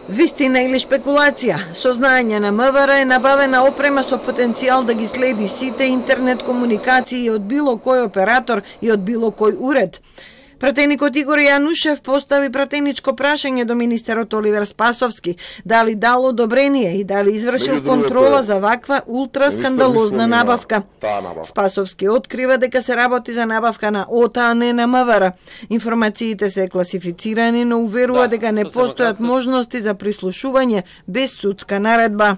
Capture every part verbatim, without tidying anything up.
Вистина или шпекулација? Со знаење на МВР е набавена опрема со потенцијал да ги следи сите интернет комуникации од било кој оператор и од било кој уред. Пратеникот Игор Јанушев постави пратеничко прашање до министерот Оливер Спасовски дали дал одобрение и дали извршил контрола за ваква ултраскандалозна набавка. Спасовски открива дека се работи за набавка на ОТА, а не на МВР. Информациите се класифицирани, но уверува дека не постојат можности за прислушување без судска наредба.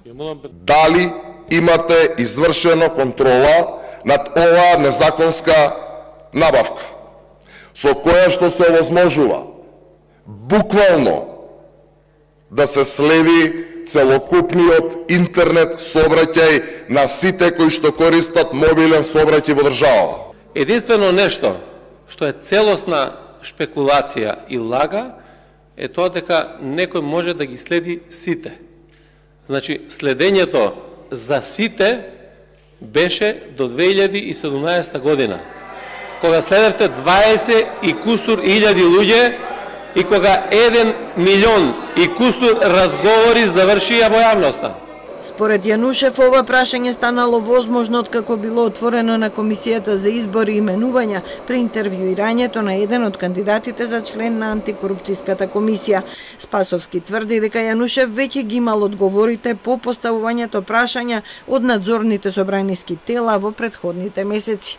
Дали имате извршено контрола над оваа незаконска набавка, со која што се овозможува буквално да се следи целокупниот интернет сообраќај на сите кои што користат мобилен сообраќај во државава. Единствено нешто што е целосна шпекулација и лага е тоа дека некој може да ги следи сите. Значи, следењето за сите беше до две илјади и седумнаесета година, кога следевте дваесет и кусур илјади луѓе и кога еден милион и кусур разговори завршија во јавноста. Според Јанушев, ова прашање станало возможно откако било отворено на Комисијата за избори и именувања при интервјуирањето на еден од кандидатите за член на антикорупцијската комисија. Спасовски тврди дека Јанушев веќе ги имал одговорите по поставувањето прашања од надзорните собраниски тела во претходните месеци.